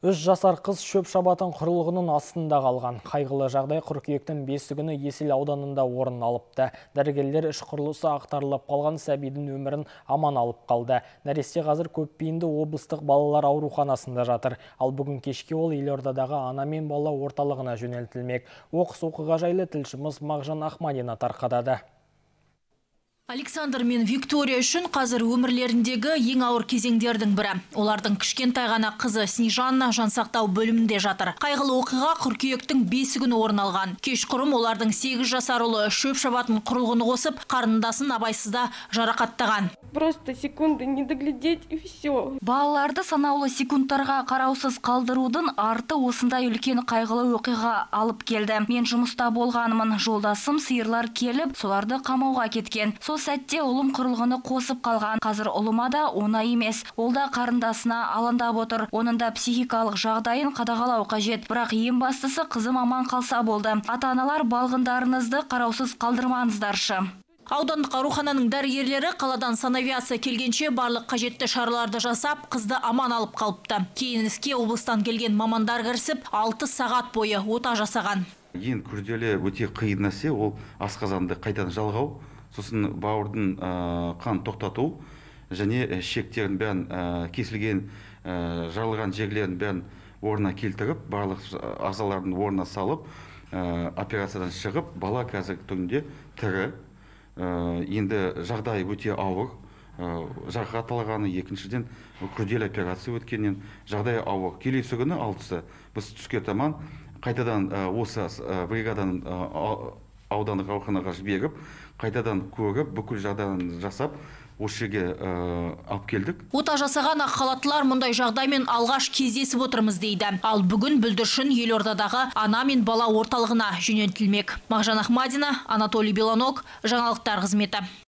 3 жасар қыз шөп шабатын құрылғының астында қалған. Қайғылы жағдай қыркүйектің 5 күні Есіл ауданында орын алыпты. Дәрігерлер іш құрылысы ақтарылып қалған сәбидің өмірін аман алып қалды. Нәресте қазір көпбейінді облыстық балалар ауруханасында жатыр. Ал бүгін кешке ол Елордадағы ана мен бала орталығына жөнелтілмек. Оқыс оқиға жайлы тілшіміз Мағжан Ахмадина тарқатады. Александр мен Виктория үшін қазір өмірлеріндегі ең ауыр кезеңдердің бірі. Олардың кішкентай ғана қызы Снежанна жансақтау бөлімінде жатыр. Қайғылы оқиға қыркүйектің 5 күні орын алған. Кешқұрым олардың 8 жасар ұлы шөп шабатын құрылғыны қосып, қарындасын абайсызда жарақаттаған. Просто секунды не доглядеть и все. Балаларды санаулы секундтарға қараусыз қалдырудың арты осындай үлкен қайғылы оқиға алып келді. Мен жұмыста болғанымын, жолдасым сиырлар келіп, соларды қамауға кеткен. Сол сәтте ұлым құрылғыны қосып қалған. Қазір ұлыма да оңай емес. Ол да қарындасына алаңдап отыр. Оның да психикалық жағдайын қадағалау қажет. Бірақ ең бастысы қызым аман қалса болды. Ата-аналар балғындарыңызды қараусыз қалдырмаңыздаршы. Аудандық аурухананың дәрігерлері қаладан санавиация келгенше барлық қажетті шараларды жасап, қызды аман алып қалыпты. Кейін іске облыстан келген мамандар кірісіп, 6 сағат бойы ота жасаған. Ең күрделі өте қиын нәрсе ол асқазанды қайтадан жалғау, сосын бауырдың қан тоқтату және шектерін бәрін кесілген жарылған жерлерін бәрін орнына келтіріп, барлық ағзалардың орнына салып, операциядан шығып, бала қазіргі күнде тірі. Енді жағдай өте ауыр, жарақат алғаны, екіншіден күрделі операция өткеннен жағдай ауыр. Келесі күні 6-сы біз түске таман қайтадан осы бригаданың аудандық ауруханаға жіберіп, қайтадан көріп, бүкіл жағдайын жасап, осы жерге алып келдік. Ота жасаған ақ халаттылар мұндай жағдаймен алғаш кездесіп отырмыз дейді. Ал бүгін бүлдіршін Елордадағы ана мен бала орталығына жөнелтілмек. Мағжан Ахмадина, Анатолий Белонок, жаңалықтар қызметі.